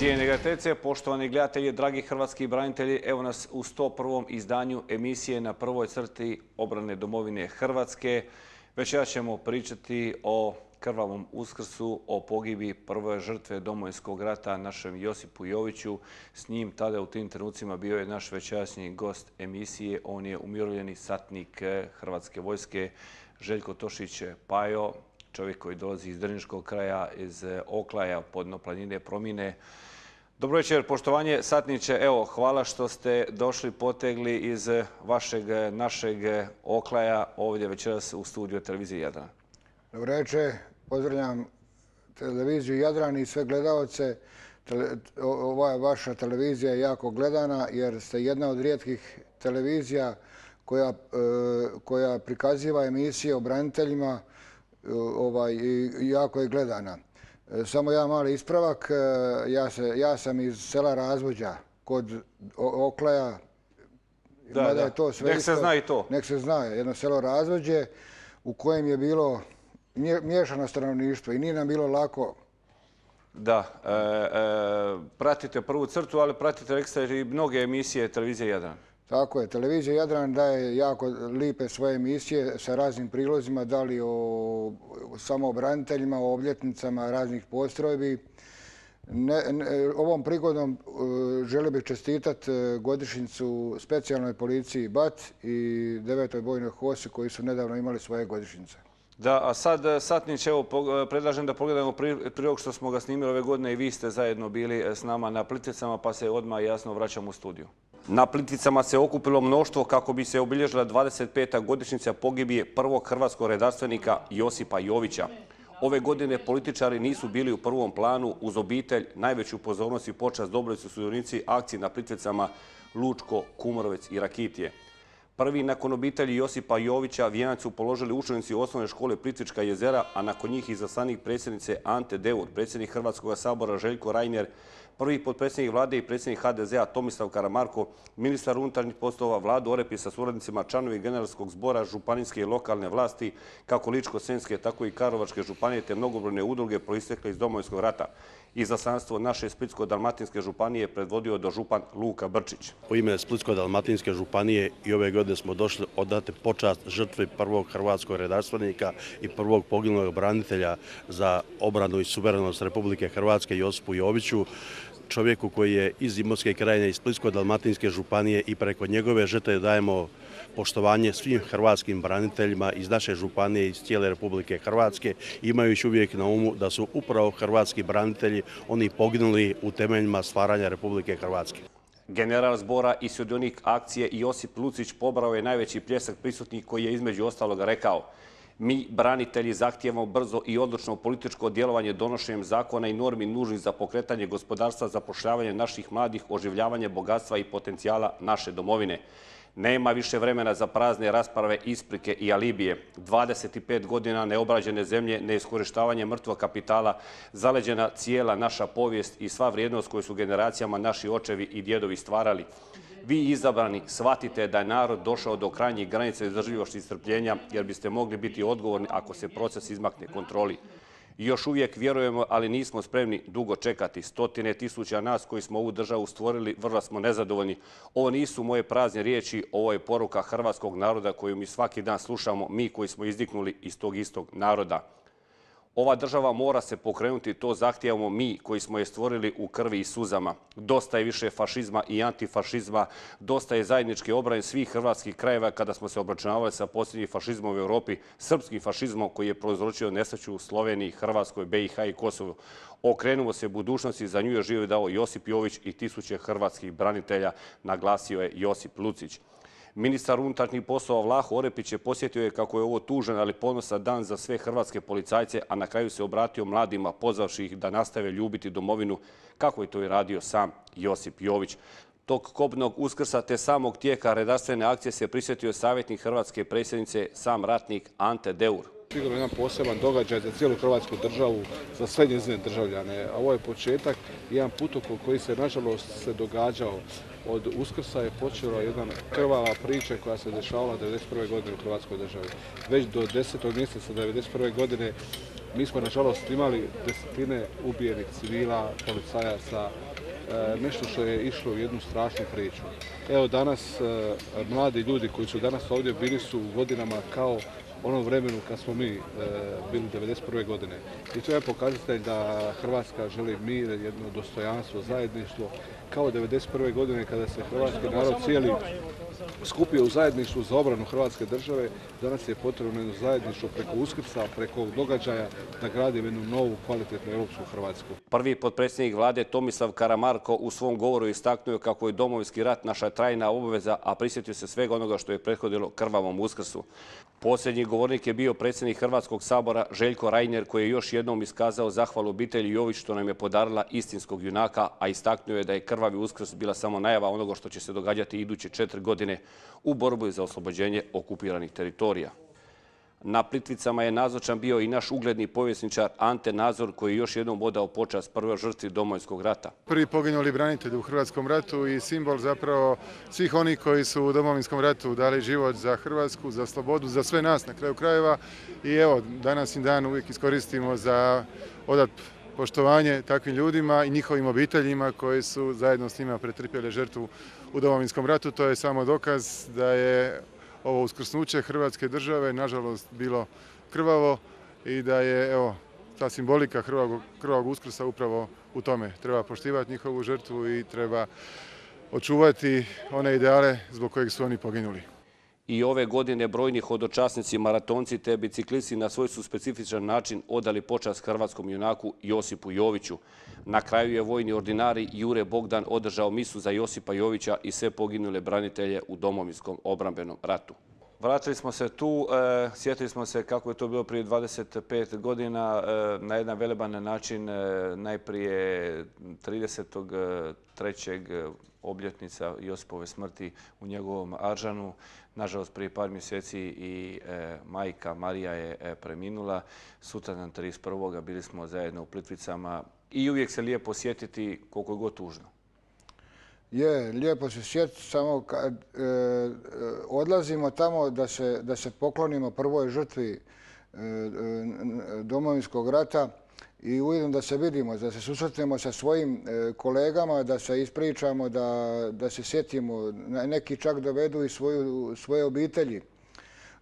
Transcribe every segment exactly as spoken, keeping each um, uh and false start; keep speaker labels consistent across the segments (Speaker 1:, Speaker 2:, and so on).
Speaker 1: Cijene gledateljice, poštovani gledatelji, dragi hrvatski branitelji, evo nas u sto prvom izdanju emisije Na prvoj crti obrane domovine Hrvatske. Večeras ćemo pričati o krvavom Uskrsu, o pogibi prve žrtve Domovinskog rata, našem Josipu Joviću. S njim tada u tim trenucima bio je naš večerašnji gost emisije. On je umirovljeni satnik Hrvatske vojske Željko Tošić Pajo, čovjek koji dolazi iz Drniškog kraja, iz Oklaja, Podno planine, Promine. Dobro večer, poštovanje satniče. Evo, hvala što ste došli, potegli iz vašeg, našeg Oklaja ovdje večeras u studiju televizije Jadran.
Speaker 2: Dobro večer, pozdravljam televiziju Jadran i sve gledalce. Ova vaša televizija je jako gledana jer ste jedna od rijetkih televizija koja, koja prikaziva emisije o braniteljima ovaj, i jako je gledana. Samo jedan mali ispravak. Ja, se, ja sam iz sela Razvođa kod Oklaja.
Speaker 1: Da, da. Je to sve nek se isto, zna i to.
Speaker 2: Nek se zna. Jedno selo Razvođe u kojem je bilo miješano stanovništvo i nije nam bilo lako.
Speaker 1: Da. E, e, pratite prvu crtu, ali pratite ekstra i mnoge emisije televizije Jadran.
Speaker 2: Tako je. Televizija Jadran daje jako lipe svoje emisije sa raznim prilozima, da li o samobraniteljima, o obljetnicama raznih postrojbi. Ne, ne, ovom prigodom uh, želio bih čestitati godišnjicu specijalnoj policiji B A T i devetoj bojnoj hosi koji su nedavno imali svoje godišnjice.
Speaker 1: Da, a sad, satnić, evo, predlažem da pogledamo prilog što smo ga snimili ove godine i vi ste zajedno bili s nama na Plitvicama, pa se odmah jasno vraćamo u studiju. Na Plitvicama se okupilo mnoštvo kako bi se obilježila dvadeset peta godišnjica pogibije prvog hrvatskog redarstvenika Josipa Jovića. Ove godine političari nisu bili u prvom planu. Uz obitelj najveću pozornost i počast dobili su sudionici akcije na Plitvicama Lučko, Kumorovec i Rakitije. Prvi nakon obitelji Josipa Jovića vijenac su položili učenici osnovne škole Plitvička jezera, a nakon njih izaslanik predsjednice Ante Deur, predsjednik Hrvatskog sabora Željko Reiner, prvi potpredsjednik vlade i predsjednik H D Z-a Tomislav Karamarko, ministar unutarnjih poslova Vlado Orepić sa suradnicima, članovi generalskog zbora županijske i lokalne vlasti, kako Ličko-senjske, tako i Karlovačke županije, te mnogobrojne udruge proistekle iz Domovinskog rata. Izaslanstvo naše Splitsko-dalmatinske županije predvodio dožupan Luka Brčić.
Speaker 3: U ime Splitsko-dalmatinske županije i ove godine smo došli odati počast žrtvi prvog hrvatskog redarstvenika i prvog poginulog branitelja za obranu i suverenost Republike Hrvatske Josipu Joviću, čovjeku koji je iz Imotske krajine i Splitsko-dalmatinske županije, i preko njegove žrtve dajemo poštovanje svim hrvatskim braniteljima iz naše županije i iz cijele Republike Hrvatske, imajući uvijek na umu da su upravo hrvatski branitelji oni poginuli u temeljima stvaranja Republike Hrvatske.
Speaker 1: General zbora i sudionik akcije Josip Lucić pobrao je najveći pljesak prisutnih koji je između ostaloga rekao: mi, branitelji, zahtijevamo brzo i odlučno političko djelovanje donošenjem zakona i normi nužnih za pokretanje gospodarstva, zapošljavanje naših mladih, oživljavanje bogatstva i potencijala naše domovine. Nema više vremena za prazne rasprave, isprike i alibije. dvadeset pet godina neobrađene zemlje, neiskorištavanje mrtvog kapitala, zaleđena cijela naša povijest i sva vrijednost koju su generacijama naši očevi i djedovi stvarali. Vi izabrani shvatite da je narod došao do krajnjih granica izdržljivosti i strpljenja, jer biste mogli biti odgovorni ako se proces izmakne kontroli. Još uvijek vjerujemo, ali nismo spremni dugo čekati. Stotine tisuća nas koji smo ovu državu stvorili vrlo smo nezadovoljni. Ovo nisu moje prazne riječi, ovo je poruka hrvatskog naroda koju mi svaki dan slušamo, mi koji smo izdiknuli iz tog istog naroda. Ova država mora se pokrenuti, to zahtijevamo mi koji smo je stvorili u krvi i suzama. Dosta je više fašizma i antifašizma, dosta je zajedničke obrane svih hrvatskih krajeva kada smo se obračunavali sa posljednjim fašizmom u Europi, srpskim fašizmom koji je prouzročio nesreću u Sloveniji, Hrvatskoj, B i H i Kosovu. Okrenuo se budućnosti, za nju je život dao Josip Jović i tisuće hrvatskih branitelja, naglasio je Josip Lucić. Ministar unutarnjih poslova Vlaho Orepić je posjetio je kako je ovo tužan, ali ponosan dan za sve hrvatske policajce, a na kraju se obratio mladima, pozvavši ih da nastave ljubiti domovinu, kako je to i radio sam Josip Jović. Tog kobnog Uskrsa te samog tijeka redarstvene akcije se prisjetio savjetnik hrvatske predsjednice, sam ratnik Ante Deur.
Speaker 4: Sigurno jedan poseban događaj za cijelu hrvatsku državu, za sve njezine državljane. A ovo je početak, jedan putokol koji se nažalost se događao. Od Uskrsa je počela jedna krvava priča koja se dešavala devedeset prve godine u Hrvatskoj državi. Već do desetog mjeseca devedeset prve godine mi smo nažalost imali desetine ubijenih civila, policajaca, nešto što je išlo u jednu strašnu priču. Evo danas mladi ljudi koji su danas ovdje bili su u godinama kao onom vremenu kad smo mi bili devedeset prve godine. I to je pokazatelj da Hrvatska želi mir, jedno dostojanstvo, zajedništvo, kao devedeset prve godine kada se hrvatski narod cijeli skupio u zajedništvu za obranu Hrvatske države. Danas je potrebno jedno zajedništvo preko Uskrsa, preko događaja da gradimo jednu novu, kvalitetnu europsku Hrvatsku.
Speaker 1: Prvi potpredsjednik vlade Tomislav Karamarko u svom govoru istaknuo kako je Domovinski rat naša trajna obaveza, a prisjetio se svega onoga što je prethodilo krvavom Uskrsu. Posljednji govornik je bio predsjednik Hrvatskog sabora Željko Reiner, koji je još jednom iskazao zahvalu obitelji Jović što nam je podarila istinskog junaka, a istaknuo je da je krvavi Uskrs bila samo najava onoga što će se događati iduće četiri godine u borbi za oslobođenje okupiranih teritorija. Na Plitvicama je nazočan bio i naš ugledni povjesničar Ante Nazor, koji je još jednom odao počast prvoj žrtvi Domovinskog rata.
Speaker 5: Prvi poginuli branitelj u Hrvatskom ratu i simbol zapravo svih onih koji su u Domovinskom ratu dali život za Hrvatsku, za slobodu, za sve nas na kraju krajeva. I evo, današnji dan uvijek iskoristimo za odat poštovanje takvim ljudima i njihovim obiteljima koji su zajedno s njima pretrpjeli žrtvu u Domovinskom ratu. To je samo dokaz da je ovo uskrsnuće Hrvatske države nažalost bilo krvavo i da je evo ta simbolika krvavog, krvavog Uskrsa upravo u tome. Treba poštivati njihovu žrtvu i treba očuvati one ideale zbog kojeg su oni poginuli.
Speaker 1: I ove godine brojni hodočasnici, maratonci te biciklisti na svoj su specifičan način odali počast hrvatskom junaku Josipu Joviću. Na kraju je vojni ordinari Jure Bogdan održao misu za Josipa Jovića i sve poginule branitelje u Domovinskom obrambenom ratu. Vratili smo se tu, e, sjetili smo se kako je to bilo prije dvadeset pet godina e, na jedan veleban način, e, najprije tridesetog trećeg obljetnica Josipove smrti u njegovom Aržanu. Nažalost, prije par mjeseci i e, majka Marija je e, preminula. Sutra na trideset prvog bili smo zajedno u Plitvicama i uvijek se lijepo sjetiti koliko je god tužno.
Speaker 2: Je, lijepo se sjetiti, samo kad e, odlazimo tamo da se, da se poklonimo prvoj žrtvi e, Domovinskog rata i ujedno da se vidimo, da se susretnemo sa svojim e, kolegama, da se ispričamo, da, da se sjetimo, neki čak dovedu i svoju, svoje obitelji.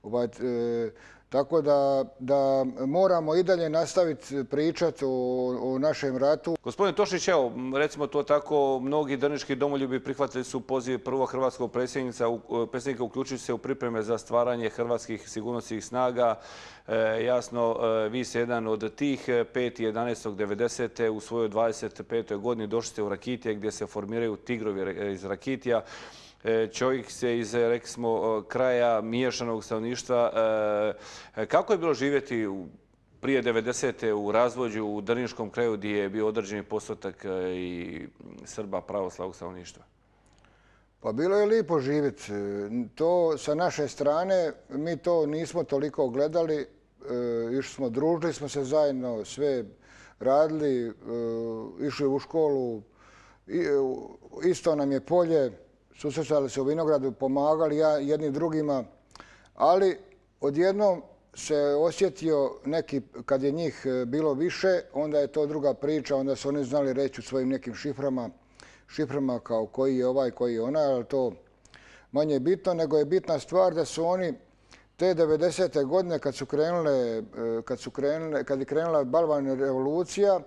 Speaker 2: Ovaj, e, Tako da, da moramo i dalje nastaviti pričati o, o našem ratu.
Speaker 1: Gospodin Tošić, evo, recimo to tako, mnogi drniški domoljubi prihvatili su poziv prvog hrvatskog predsjednika uključujući se u pripreme za stvaranje hrvatskih sigurnosnih snaga. E, jasno, e, vi ste jedan od tih. petog jedanaestog devedesete u svojoj dvadeset petoj godini došli ste u Rakitije gdje se formiraju tigrovi iz Rakitija. Čovjek se iz, rekli smo, kraja miješanog stanovništva. Kako je bilo živjeti prije devedesete u razvođu u drniškom kraju gdje je bio određeni postotak i Srba pravoslavnog stanovništva?
Speaker 2: Pa bilo je lijepo živjeti. To sa naše strane, mi to nismo toliko gledali. Išli smo, družili smo se zajedno, sve radili, išli u školu. Isto nam je polje. Susretali se u vinogradu, pomagali jedni drugima, ali odjednom se osjetio neki, kad je njih bilo više, onda je to druga priča, onda su oni znali reći u svojim nekim šiframa, šiframa kao koji je ovaj, koji je onaj, ali to manje bitno, nego je bitna stvar da su oni te devedesete godine kad su krenule, kad su krenule, kad je krenula balvanna revolucija,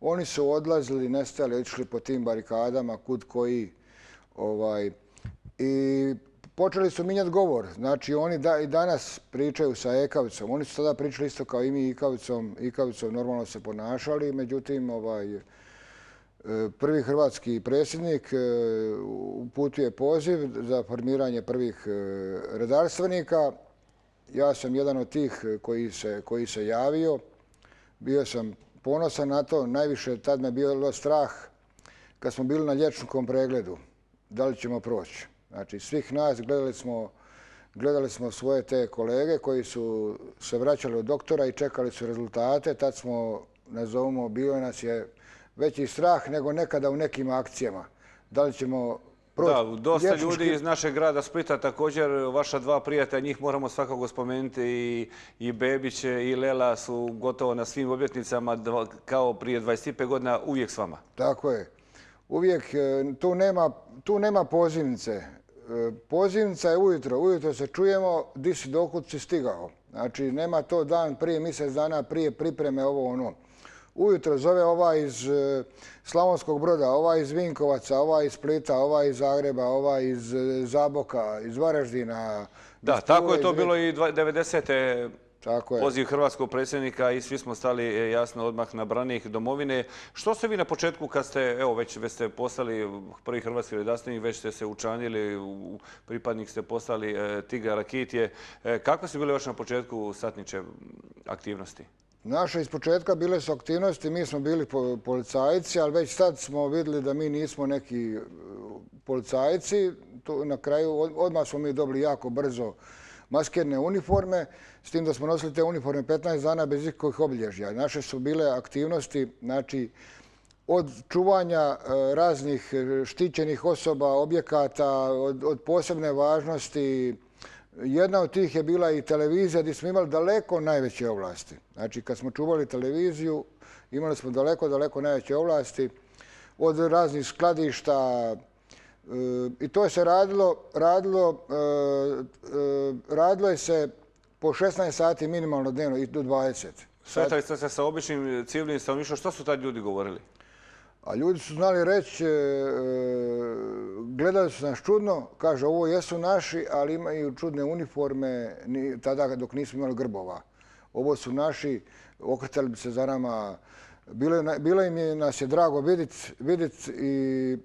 Speaker 2: oni su odlazili, nestali, išli po tim barikadama, kud koji. Ovaj, I počeli su mijenjati govor. Znači, oni da, i danas pričaju sa Ekavicom. Oni su tada pričali isto kao i mi Ikavicom. Ikavicom normalno se ponašali. Međutim, ovaj, prvi hrvatski predsjednik uputio je poziv za formiranje prvih redarstvenika. Ja sam jedan od tih koji se, koji se javio. Bio sam ponosan na to. Najviše tad me bilo strah kad smo bili na liječničkom pregledu. Da li ćemo proći. Znači, svih nas gledali smo, gledali smo svoje te kolege koji su se vraćali od doktora i čekali su rezultate. Tad smo, nazovimo, bilo nas je veći strah nego nekada u nekim akcijama. Da li ćemo proći.
Speaker 1: Da, dosta liječnički... ljudi iz našeg grada Splita, također vaša dva prijatelja, njih moramo svakako spomenuti, i, i Bebić i Lela su gotovo na svim obljetnicama kao prije dvadeset pet godina uvijek s vama.
Speaker 2: Tako je. uvijek tu nema, tu nema pozivnice. Pozivnica je ujutro. Ujutro se čujemo di si dokud si stigao. Znači, nema to dan prije, mjesec dana prije pripreme, ovo ono. Ujutro zove ovaj iz Slavonskog Broda, ovaj iz Vinkovaca, ovaj iz Splita, ovaj iz Zagreba, ovaj iz Zaboka, iz Varaždina.
Speaker 1: Da, tako je to bilo i devedesete.
Speaker 2: Tako je.
Speaker 1: Poziv hrvatskog predsjednika i svi smo stali jasno odmah na branik domovine. Što ste vi na početku kad ste, evo već, već ste postali prvi hrvatski redarstvenik, već ste se učlanili, pripadnik ste postali Tigra Rakitje. Kakve su bile još na početku satniče aktivnosti?
Speaker 2: Naše iz početka bile su aktivnosti, mi smo bili policajci, ali već sad smo vidjeli da mi nismo neki policajci. Na kraju odmah smo mi dobili jako brzo maskirne uniforme, s tim da smo nosili te uniforme petnaest dana bez ikakvih obilježja. Naše su bile aktivnosti, znači, od čuvanja raznih štićenih osoba, objekata, od, od posebne važnosti. Jedna od tih je bila i televizija gdje smo imali daleko najveće ovlasti. Znači, kad smo čuvali televiziju, imali smo daleko, daleko najveće ovlasti od raznih skladišta. I to je se radilo, radilo, radilo je se po šesnaest sati minimalno dnevno i do dvadeset.
Speaker 1: Sretali ste se sa običnim civilnim stanovništvom. Što su tad ljudi govorili?
Speaker 2: A ljudi su znali reći, gledali su nas čudno, kaže ovo jesu naši, ali imaju čudne uniforme tada dok nismo imali grbova. Ovo su naši, okretali bi se za nama. Bilo im je, nas je drago vidjeti i,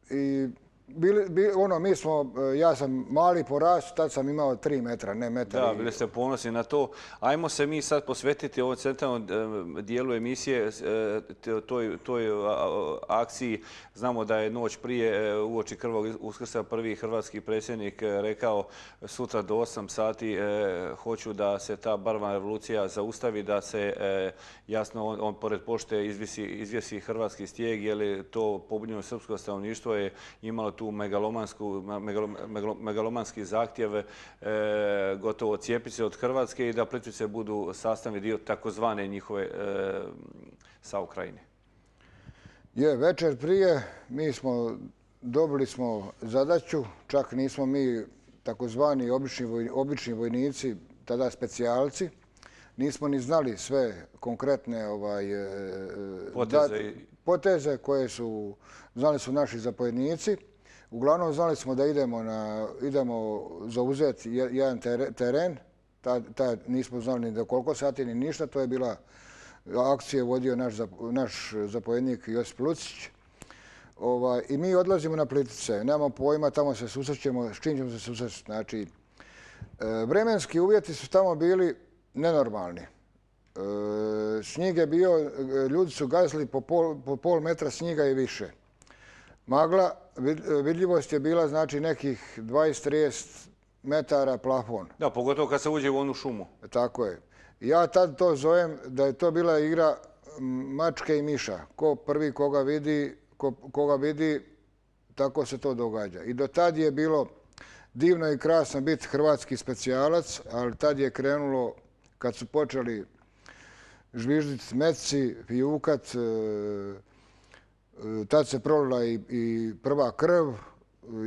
Speaker 2: i Bili, bili, ono, mi smo, ja sam mali po rastu, tad sam imao tri metra, ne metar.
Speaker 1: Da, bili ste ponosni na to. Ajmo se mi sad posvetiti ovom centralnom dijelu emisije, toj, toj akciji. Znamo da je noć prije uoči Krvog Uskrsa prvi hrvatski predsjednik rekao sutra do osam sati hoću da se ta barvna revolucija zaustavi, da se jasno on, on pored pošte izvisi, izvisi hrvatski stijeg, jer je to pobunjeno srpsko stanovništvo je imalo tu megalomansku, megalo, megalo, megalomanski zahtjev e, gotovo cijepiti se od Hrvatske i da Plitvice budu sastavni dio takozvane njihove e, sa Ukrajine.
Speaker 2: Je, večer prije mi smo dobili smo zadaću, čak nismo mi takozvani obični, voj, obični vojnici, tada specijalci, nismo ni znali sve konkretne ovaj,
Speaker 1: poteze,
Speaker 2: da, poteze koje su znali su naši zapovjednici. Uglavnom znali smo da idemo, na, idemo zauzeti jedan teren. Ta, ta, nismo znali ni do koliko sati ni ništa. To je bila akcija vodio naš, naš zapovjednik Josip Lucić. Ovaj, I mi odlazimo na Plitvice. Nemamo pojma, tamo se susrećemo, s čim ćemo se susreći. Znači, vremenski uvjeti su tamo bili nenormalni. Snijeg je bio, ljudi su gazili po pol, po pol metra snijega i više. Magla, vidljivost je bila znači nekih dvadeset do trideset metara plafon.
Speaker 1: Da, pogotovo kad se uđe u onu šumu.
Speaker 2: Tako je. Ja tad to zovem da je to bila igra mačke i miša. Ko prvi koga vidi, ko, koga vidi, tako se to događa. I do tad je bilo divno i krasno biti hrvatski specijalac, ali tad je krenulo, kad su počeli žvižditi metci, fijukat, tad se prolila i, i prva krv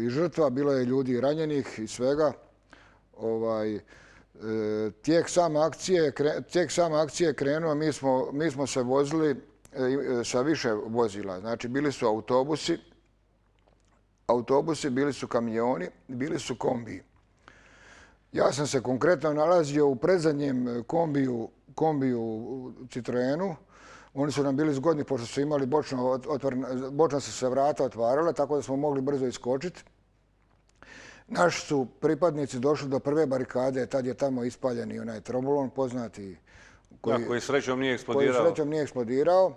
Speaker 2: i žrtva, bilo je ljudi ranjenih i svega. Ovaj, tijek same akcije, tijek same akcije krenuo, mi smo, mi smo se vozili sa više vozila. Znači, bili su autobusi, autobusi, bili su kamioni, bili su kombiji. Ja sam se konkretno nalazio u predzadnjem kombiju, kombiju Citroenu. Oni su nam bili zgodni pošto su imali bočno, otvorena, bočno su se vrata otvarala, tako da smo mogli brzo iskočiti. Naši su pripadnici došli do prve barikade, tad je tamo ispaljen i onaj trombolon poznati.
Speaker 1: Koji, da, koji srećom nije eksplodirao.
Speaker 2: Koji srećom nije eksplodirao.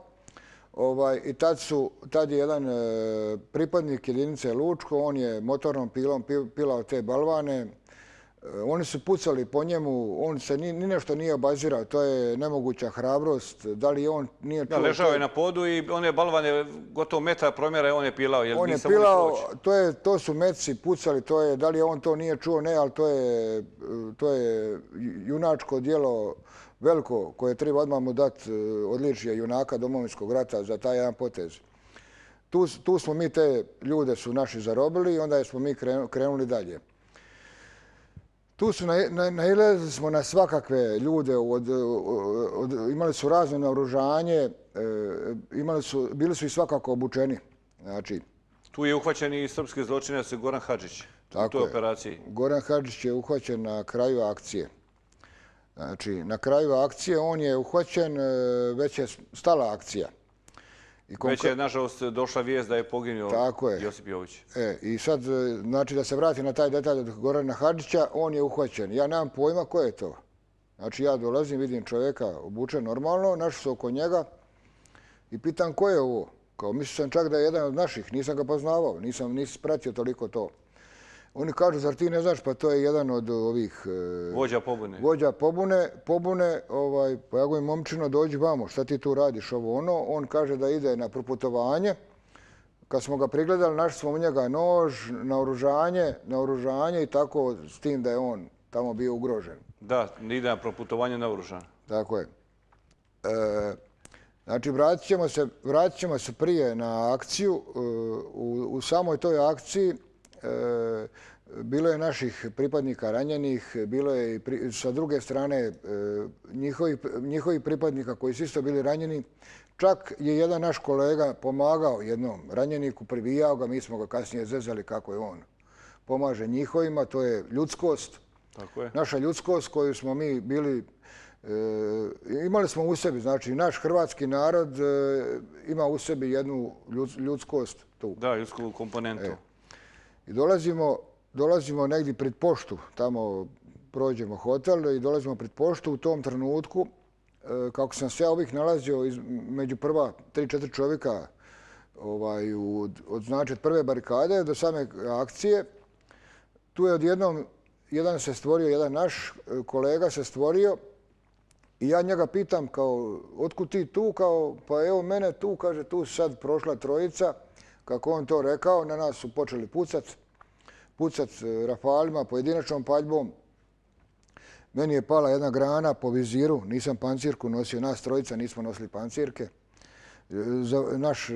Speaker 2: Ovaj, I tad, su, tad je jedan e, pripadnik jedinice Lučko, on je motornom pilom pilao te balvane. Oni su pucali po njemu, on se ni, ni nešto nije obazirao, to je nemoguća hrabrost. Da li on nije čuo...
Speaker 1: Da, ležao je na podu i one balvane gotovo metra promjera on je pilao. Jer
Speaker 2: on je pilao, to, je, to su metci pucali, to je, da li on to nije čuo, ne, ali to je, to je junačko djelo veliko koje treba odmah mu dati odličje junaka Domovinskog rata za taj jedan potez. tu, tu smo mi te ljude su naši zarobili i onda smo mi krenuli dalje. Tu su nailazili smo na svakakve ljude, od, od, imali su razno naoružanje, e, imali su, bili su i svakako obučeni. Znači,
Speaker 1: tu je uhvaćen i srpski zločinac Goran Hadžić u toj operaciji.
Speaker 2: Goran Hadžić je uhvaćen na kraju akcije. Znači, na kraju akcije on je uhvaćen, već je stala akcija.
Speaker 1: I već je, nažalost, došla vijest da je poginuo Josip Jović.
Speaker 2: E, I sad, znači, da se vrati na taj detalj od Gorana Hadžića, on je uhvaćen. Ja nemam pojma ko je to. Znači, ja dolazim, vidim čovjeka obučen normalno, našli su oko njega i pitam ko je ovo. Kao, mislio sam čak da je jedan od naših, nisam ga poznavao, nisam, nisam pratio toliko to. Oni kažu, zar ti ne znaš, pa to je jedan od ovih...
Speaker 1: Vođa pobune.
Speaker 2: Vođa pobune, pobune, ovaj, pa ja govorim, momčino, dođi vamo, šta ti tu radiš, ovo ono. On kaže da ide na proputovanje. Kad smo ga prigledali, našli smo u njega nož, naoružanje, naoružanje i tako, s tim da je on tamo bio ugrožen.
Speaker 1: Da, ide na proputovanje naoružan.
Speaker 2: Tako je. E, znači, vratit ćemo se, vratit ćemo se prije na akciju. U, u samoj toj akciji E, bilo je naših pripadnika ranjenih, bilo je i pri, sa druge strane e, njihovi, njihovi pripadnika koji su isto bili ranjeni. Čak je jedan naš kolega pomagao jednom ranjeniku, pribijao ga, mi smo ga kasnije zezali kako je on pomaže njihovima, to je ljudskost.
Speaker 1: Tako je.
Speaker 2: Naša ljudskost koju smo mi bili, e, imali smo u sebi, znači naš hrvatski narod e, ima u sebi jednu ljudskost tu.
Speaker 1: Da, ljudsku komponentu.
Speaker 2: E. I dolazimo, dolazimo negdje pred poštu, tamo prođemo hotel i dolazimo pred poštu u tom trenutku. Kako sam se ja ovih nalazio iz, među prva tri, četiri čovjeka ovaj, od, od, znači, od prve barikade do same akcije, tu je odjednom jedan se stvorio, jedan naš kolega se stvorio i ja njega pitam kao, otkud ti tu? Kao, pa evo mene tu, kaže, tu sad prošla trojica. Kako on to rekao, na nas su počeli pucat, pucat rafalima, pojedinačnom paljbom. Meni je pala jedna grana po viziru, nisam pancirku nosio, nas trojica nismo nosili pancirke. Naš e,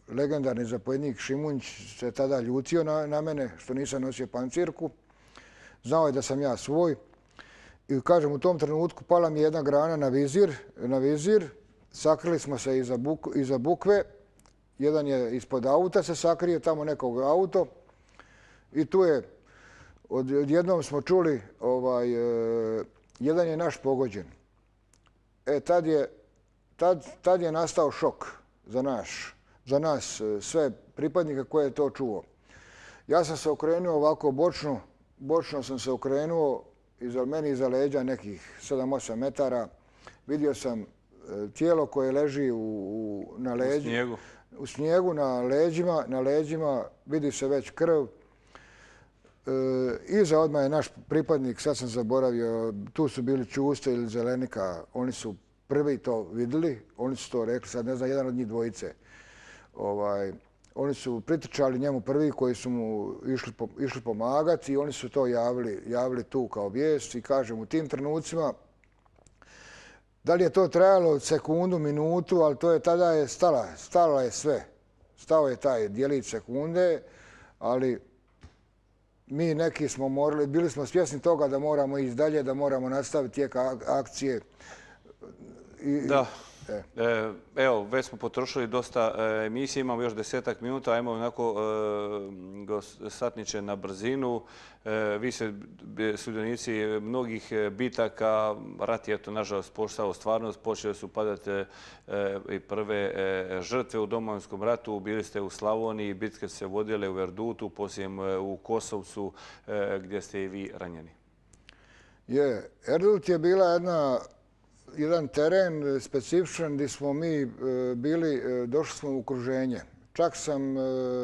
Speaker 2: legendarni zapovjednik Šimunć se tada ljutio na, na mene što nisam nosio pancirku. Znao je da sam ja svoj. I kažem, u tom trenutku pala mi je jedna grana na vizir, na vizir. Sakrili smo se iza, buk, iza bukve. Jedan je ispod auta se sakrio, tamo nekog auto. I tu je, odjednom smo čuli, ovaj, e, jedan je naš pogođen. E, tad je, tad, tad je nastao šok za, naš, za nas, sve pripadnike koje je to čuo. Ja sam se okrenuo ovako bočno, bočno sam se okrenuo, iza meni iza leđa nekih sedam osam metara. Vidio sam tijelo koje leži u, u, na leđu.
Speaker 1: U snijegu.
Speaker 2: U snijegu, na leđima, na leđima vidi se već krv. E, iza odmah je naš pripadnik, sad sam zaboravio, tu su bili Čuste ili Zelenika, oni su prvi to vidjeli, oni su to rekli, sad ne znam, jedan od njih dvojice. Ovaj, oni su pritrčali njemu prvi koji su mu išli, išli pomagati i oni su to javili, javili tu kao vijest i kažem u tim trenucima. Da li je to trajalo sekundu, minutu, ali to je tada je stala, stala je sve. Stao je taj djelić sekunde, ali mi neki smo morali, bili smo svjesni toga da moramo ići dalje, da moramo nastaviti tijek akcije.
Speaker 1: I, da. E. Evo, već smo potrošili dosta emisije, imamo još desetak minuta, ajmo onako e, satniče na brzinu. E, vi ste sudionici mnogih bitaka, rat je to nažalost postao stvarnost, počeli su padati e, i prve e, žrtve u Domovinskom ratu, bili ste u Slavoniji, bitke se vodile u Erdutu, poslije u Kosovcu e, gdje ste i vi ranjeni.
Speaker 2: Je, Erdut je bila jedna jedan teren specifičan gdje smo mi bili, došli smo u okruženje. Čak sam,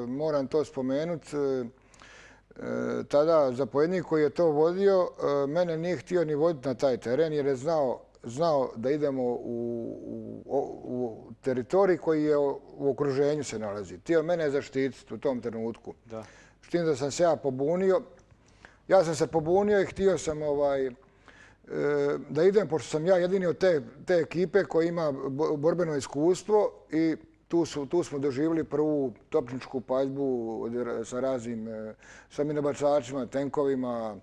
Speaker 2: moram to spomenuti, tada zapovjednik koji je to vodio, mene nije htio ni voditi na taj teren jer je znao, znao da idemo u, u, u teritorij koji je u okruženju se nalazi. Htio mene zaštititi u tom trenutku. Da. S tim da sam se ja pobunio. Ja sam se pobunio i htio sam ovaj, da idem, pošto sam ja jedini od te, te ekipe koji ima borbeno iskustvo i tu, su, tu smo doživjeli prvu topničku paljbu sa raznim, sa minobacačima, tenkovima,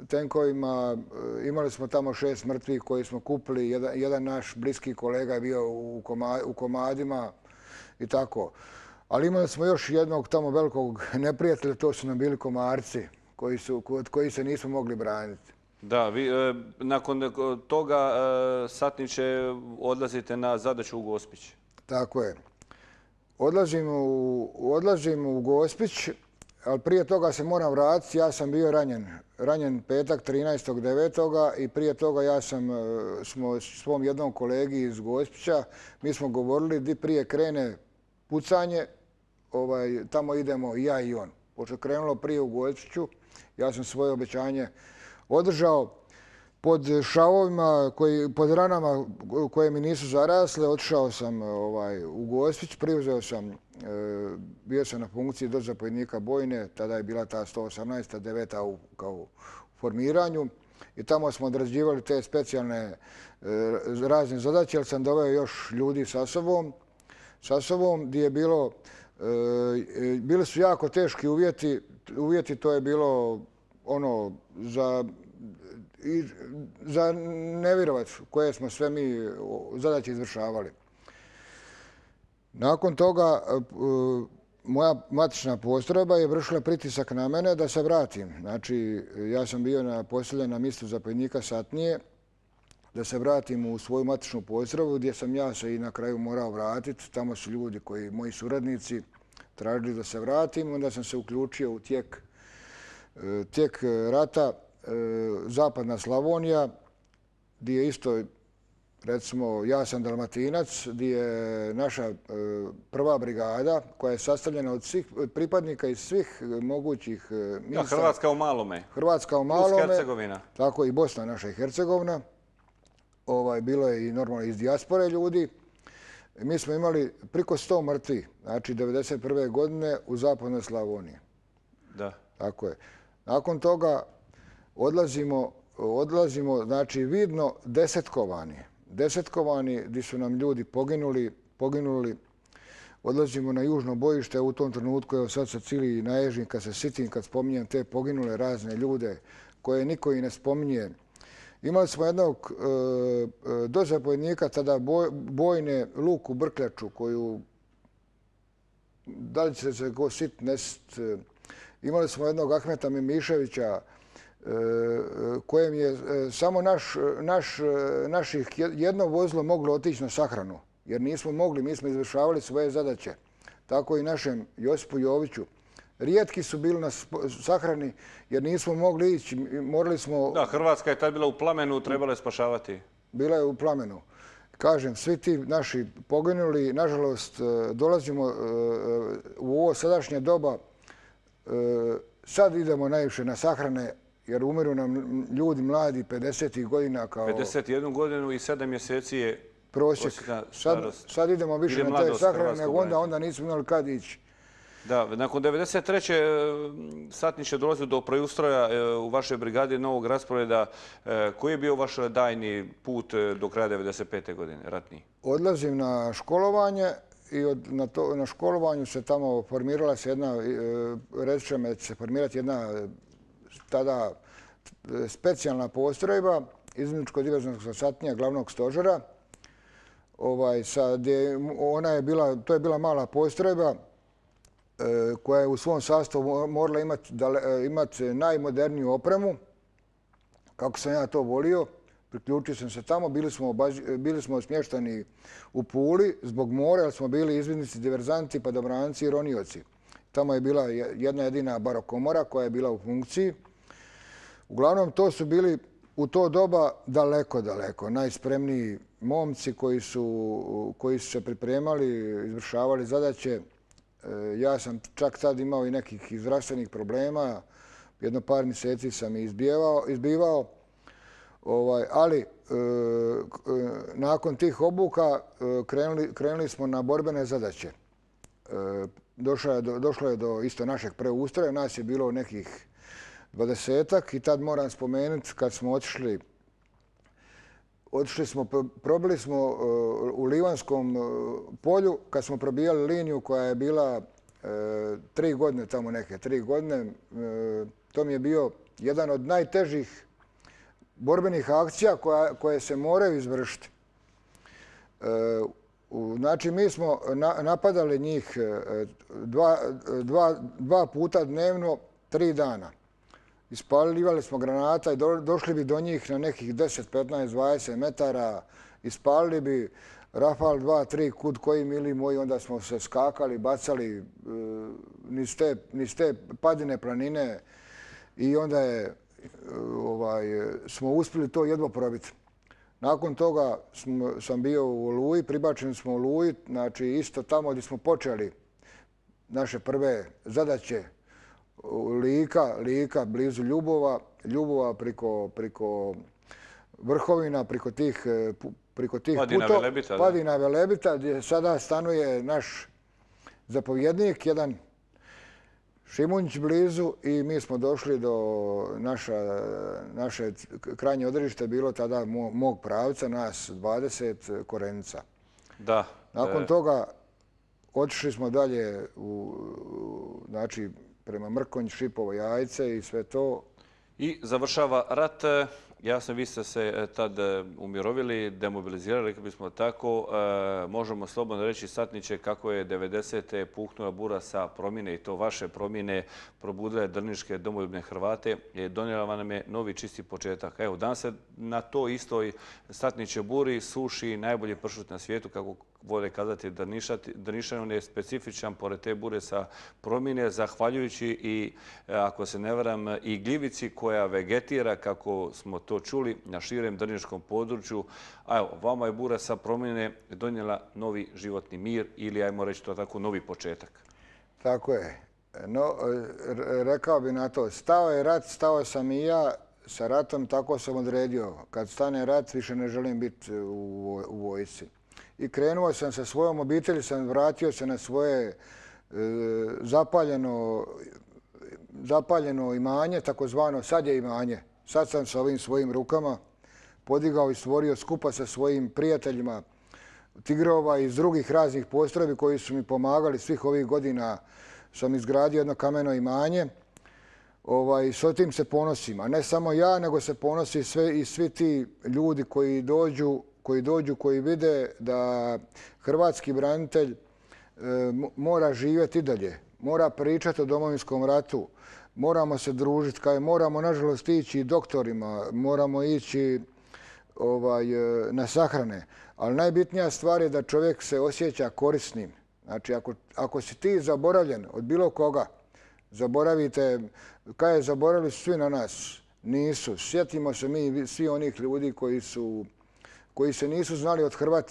Speaker 2: tenkovima. Imali smo tamo šest mrtvih koji smo kupili. Jedan, jedan naš bliski kolega je bio u, koma, u komadima i tako. Ali imali smo još jednog tamo velikog neprijatelja, to su nam bili komarci koji su, od koji se nismo mogli braniti.
Speaker 1: Da, vi e, nakon toga e, satniče odlazite na zadaću u Gospić.
Speaker 2: Tako je. Odlazim u, odlazim u Gospić, ali prije toga se moram vratiti. Ja sam bio ranjen. Ranjen petak trinaestog devetog i prije toga ja sam smo svom jednom kolegi iz Gospića, mi smo govorili di prije krene pucanje, ovaj, tamo idemo i ja i on. Pošto je krenulo prije u Gospiću, ja sam svoje obećanje održao. Pod šavovima, koji, pod ranama koje mi nisu zarasle, otišao sam ovaj, u Gospić, preuzeo sam, e, bio sam na funkciji dozapovjednika bojne, tada je bila ta sto osamnaesta deveta u, kao u formiranju i tamo smo odrađivali te specijalne e, razne zadaće, jer sam doveo još ljudi sa sobom, sa sobom gdje je bilo, e, bili su jako teški uvjeti, uvjeti to je bilo ono za i za nevjerovac koje smo sve mi zadaće izvršavali. Nakon toga moja matična postrojba je vršila pritisak na mene da se vratim. Znači, ja sam bio na poseljen na mjestu zapovjednika satnije, da se vratim u svoju matičnu postrojbu gdje sam ja se i na kraju morao vratiti. Tamo su ljudi koji, moji suradnici, tražili da se vratim. Onda sam se uključio u tijek, tijek rata Zapadna Slavonija, gdje je isto, recimo, ja sam Dalmatinac, gdje je naša prva brigada koja je sastavljena od svih pripadnika iz svih mogućih mjesta.
Speaker 1: Ja, Hrvatska u malome.
Speaker 2: Hrvatska u malome.
Speaker 1: Plus Hercegovina.
Speaker 2: Tako i Bosna, naša i Hercegovina. Ovaj, bilo je i normalno iz dijaspore ljudi. Mi smo imali priko sto mrtvih, znači devedeset prve godine u Zapadnoj Slavoniji.
Speaker 1: Da.
Speaker 2: Tako je. Nakon toga odlazimo, odlazimo, znači vidno desetkovani. Desetkovani gdje su nam ljudi poginuli, poginuli. Odlazimo na južno bojište u tom trenutku, evo sad se cili naježim kad se sitim, kad spominjem te poginule razne ljude koje niko i ne spominje. Imali smo jednog e, dozapovjednika, tada boj, bojne Luku Brkljaču, koju, da li će se go sit nest. Imali smo jednog Ahmeta Mimiševića, kojem je samo naš, naš, naših jedno vozilo moglo otići na sahranu, jer nismo mogli, mi smo izvršavali svoje zadaće. Tako i našem Josipu Joviću. Rijetki su bili na sahrani jer nismo mogli ići, morali smo...
Speaker 1: Da, Hrvatska je tad bila u plamenu, trebala je spašavati.
Speaker 2: Bila je u plamenu. Kažem, svi ti naši poginuli, nažalost, dolazimo u ovo sadašnje doba, sad idemo najviše na sahrane, jer umiru nam ljudi mladi pedesetih godina kao...
Speaker 1: pedeset jednu godinu i sedam mjeseci je
Speaker 2: prosjek. Sad, sad idemo više
Speaker 1: Ide
Speaker 2: na te sahrane, nego onda, onda nismo imali kad ići.
Speaker 1: Da, nakon devedeset treće satniče dolazi do preustroja u vašoj brigadi novog rasporeda. Koji je bio vaš daljnji put do kraja devedeset pete godine, ratni?
Speaker 2: Odlazim na školovanje i od, na, to, na školovanju se tamo formirala se jedna, reći će me da će se formirati jedna tada specijalna postrojba izvidničko-diverzionskog satnija glavnog stožera. Ovaj, sad je, ona je bila, to je bila mala postrojba koja je u svom sastavu morala imati, imati najmoderniju opremu. Kako sam ja to volio, priključio sam se tamo. Bili smo, bili smo smještani u Puli zbog mora, jer smo bili izvidnici, diverzanti, padobranci i ronioci. Tamo je bila jedna jedina barokomora koja je bila u funkciji. Uglavnom, to su bili u to doba daleko, daleko najspremniji momci koji su, koji su se pripremali, izvršavali zadaće. Ja sam čak tad imao i nekih zdravstvenih problema. Jedno par mjeseci sam izbivao, izbivao. Ovaj, ali e, nakon tih obuka krenuli, krenuli smo na borbene zadaće. E, došlo, je do, došlo je do isto našeg preustroja. Nas je bilo nekih dvadesetak i tad moram spomenuti kad smo otišli otišli smo, probili smo u Livanskom polju, kad smo probijali liniju koja je bila tri godine, tamo neke tri godine, to mi je bio jedan od najtežih borbenih akcija koje se moraju izvršiti. Znači, mi smo napadali njih dva puta dnevno, tri dana. Ispaljivali smo granata i došli bi do njih na nekih deset, petnaest, dvadeset metara. Ispalili bi Rafal dva, tri, kud koji mili moji, onda smo se skakali, bacali niz te padine planine i onda je, ovaj, smo uspjeli to jedva probiti. Nakon toga smo, sam bio u Oluji, pribačeni smo u Oluji, znači isto tamo gdje smo počeli naše prve zadaće, Lika, Lika blizu Ljubova, Ljubova priko, priko Vrhovina, priko tih, priko tih
Speaker 1: Padina
Speaker 2: putova,
Speaker 1: Velebita,
Speaker 2: Padina Velebita, gdje sada stanuje naš zapovjednik, jedan Šimunić blizu, i mi smo došli do naša, naše krajnje odredište, bilo tada mog pravca, nas dvadeset, Korenica.
Speaker 1: Da.
Speaker 2: Nakon toga otišli smo dalje u, znači, prema Mrkonj, Šipovo, Jajce i sve to.
Speaker 1: I završava rat. Jasno, vi ste se tad umirovili, demobilizirali, rekli bismo tako. Možemo slobodno reći, satniče, kako je devedesete puhnula bura sa promjene i to vaše promjene probudile drniške domoljubne Hrvate. Donijela nam je novi čisti početak. Evo, danas se na to istoj satniče buri suši najbolji pršut na svijetu, kako vole kazati Drnišani. On je specifičan pored te bure sa promjene, zahvaljujući i, ako se ne varam, i gljivici koja vegetira, kako smo to čuli, na širem drniškom području. A evo, vama je bura sa promjene donijela novi životni mir ili, ajmo reći to tako, novi početak.
Speaker 2: Tako je. No, rekao bi na to, stao je rat, stao sam i ja sa ratom, tako sam odredio. Kad stane rat, više ne želim biti u, u vojsci. I krenuo sam sa svojom obitelji, sam vratio se na svoje e, zapaljeno, zapaljeno imanje, takozvano sad je imanje. Sad sam sa ovim svojim rukama podigao i stvorio skupa sa svojim prijateljima Tigrova iz drugih raznih postrojbi koji su mi pomagali svih ovih godina. Sam izgradio jedno kameno imanje. Ovaj, s tim se ponosim. A ne samo ja, nego se ponosi sve, i svi ti ljudi koji dođu, koji dođu, koji vide da hrvatski branitelj e, mora živjeti i dalje. Mora pričati o Domovinskom ratu. Moramo se družiti. Kaj, moramo, nažalost, ići i doktorima. Moramo ići ovaj, na sahrane. Ali najbitnija stvar je da čovjek se osjeća korisnim. Znači, ako, ako si ti zaboravljen od bilo koga, zaboravite, kaj je, zaboravili su svi na nas. Nisu. Sjetimo se mi svi onih ljudi koji su koji se nisu znali othrvat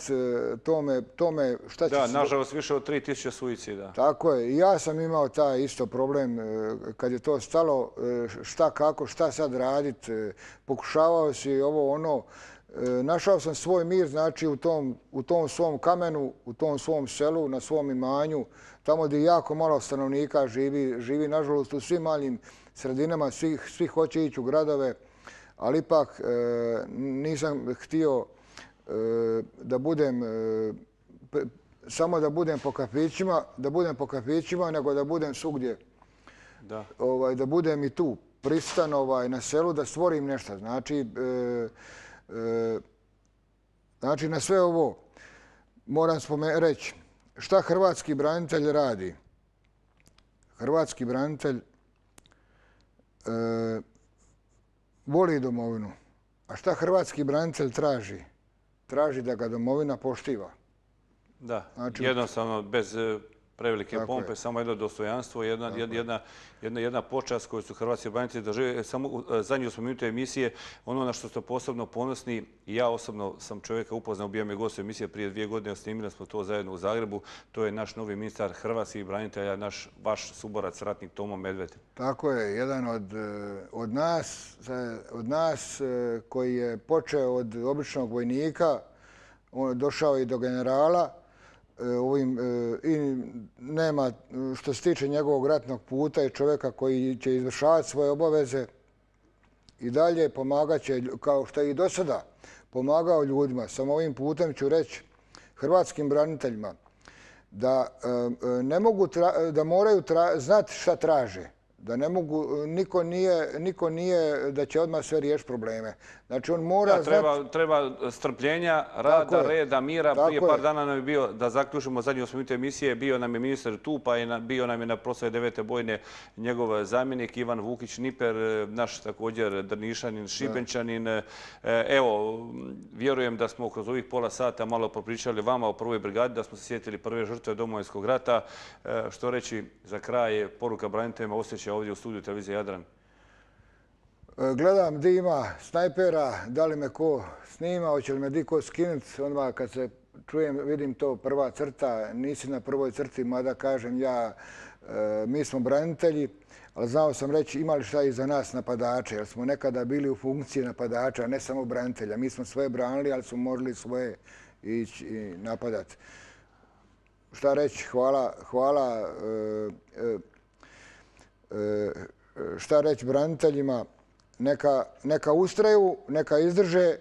Speaker 2: tome, tome šta će...
Speaker 1: Da, nažalost, više od tri tisuće suicida.
Speaker 2: Tako je. I ja sam imao taj isto problem kad je to stalo, šta kako, šta sad raditi. Pokušavao si ovo ono. Našao sam svoj mir, znači, u tom, u tom svom kamenu, u tom svom selu, na svom imanju, tamo gdje jako malo stanovnika živi, živi nažalost u svim malim sredinama, svi, svi hoće ići u gradove, ali ipak nisam htio da budem, samo da budem po kafićima, da budem po kafićima, nego da budem svugdje.
Speaker 1: Da.
Speaker 2: Ovaj, da budem i tu pristan ovaj, na selu, da stvorim nešto. Znači, e, e, znači, na sve ovo moram spomen- reći šta hrvatski branitelj radi. Hrvatski branitelj e, voli domovinu. A šta hrvatski branitelj traži? Traži da ga domovina poštiva.
Speaker 1: Da,
Speaker 2: znači,
Speaker 1: jednostavno, bez prevelike pompe,
Speaker 2: je.
Speaker 1: samo jedno dostojanstvo, jedna, jedna, jedna, jedna počast koju su hrvatski branitelji doživjeli. Samo zadnju smo minutu emisije, ono na što ste posebno ponosni, i ja osobno sam čovjeka upoznao, bio mi gost emisije prije dvije godine, snimili smo to zajedno u Zagrebu, to je naš novi ministar hrvatskih branitelja, naš, vaš suborac, ratnik Tomo Medved.
Speaker 2: Tako je, jedan od, od nas, od nas koji je počeo od običnog vojnika, on je došao i do generala, ovim, i nema, što se tiče njegovog ratnog puta, i čovjeka koji će izvršavati svoje obaveze i dalje, pomagat će, kao što je i do sada pomagao ljudima. Samo ovim putem ću reći hrvatskim braniteljima da ne mogu, da moraju znati šta traže. Da ne mogu, niko nije, niko nije da će odmah sve riješiti probleme. Znači on mora
Speaker 1: da, treba,
Speaker 2: znati...
Speaker 1: Treba strpljenja, rada, reda, mira.
Speaker 2: Tako
Speaker 1: Prije par
Speaker 2: je.
Speaker 1: dana nam je bio, da zaključimo zadnju osam minuta emisije, bio nam je ministar tu, pa je na, bio nam je na proslavi devete bojne njegov zamjenik Ivan Vukić-Niper, naš također Drnišanin, Šibenčanin. Da. Evo, vjerujem da smo kroz ovih pola sata malo popričali vama o prvoj brigadi, da smo se sjetili prve žrtve Domovinskog rata. Što reći za kraj, poruka braniteljima, osjećaj ovdje u studiju televizije Jadran?
Speaker 2: Gledam di ima snajpera, da li me ko snima, hoće li me di ko skinuti. Odmah kad se čujem, vidim to prva crta, nisi na prvoj crti, mada kažem ja, mi smo branitelji, ali znao sam reći imali šta iza nas napadače, jer smo nekada bili u funkciji napadača, ne samo branitelja. Mi smo svoje branili, ali smo morali svoje ići i napadati. Šta reći, hvala, hvala, šta reći braniteljima, neka, neka ustraju, neka izdrže,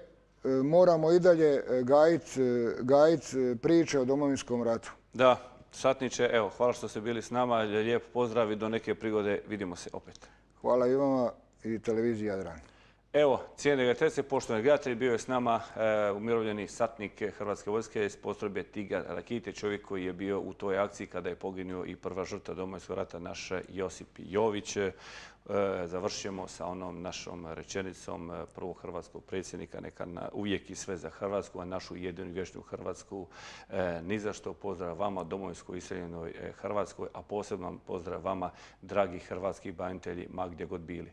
Speaker 2: moramo i dalje gajiti gajit priče o Domovinskom ratu.
Speaker 1: Da, satniče, evo, hvala što ste bili s nama, lijep pozdrav i do neke prigode, vidimo se opet.
Speaker 2: Hvala i vama i televiziji Jadran.
Speaker 1: Evo, cijene gledatelji, poštovani gledatelji, bio je s nama e, umirovljeni satnik Hrvatske vojske iz postrojbe Tigar Rakite, čovjek koji je bio u toj akciji kada je poginuo i prva žrtva Domovinskog rata, naš Josip Jović. E, završit ćemo sa onom našom rečenicom prvog hrvatskog predsjednika, neka na, uvijek i sve za Hrvatsku, a našu jedinu i vječnu Hrvatsku. E, ni za što pozdrav vama, domovinskoj iseljenoj Hrvatskoj, a posebno pozdrav vama, dragi hrvatski branitelji, ma gdje god bili.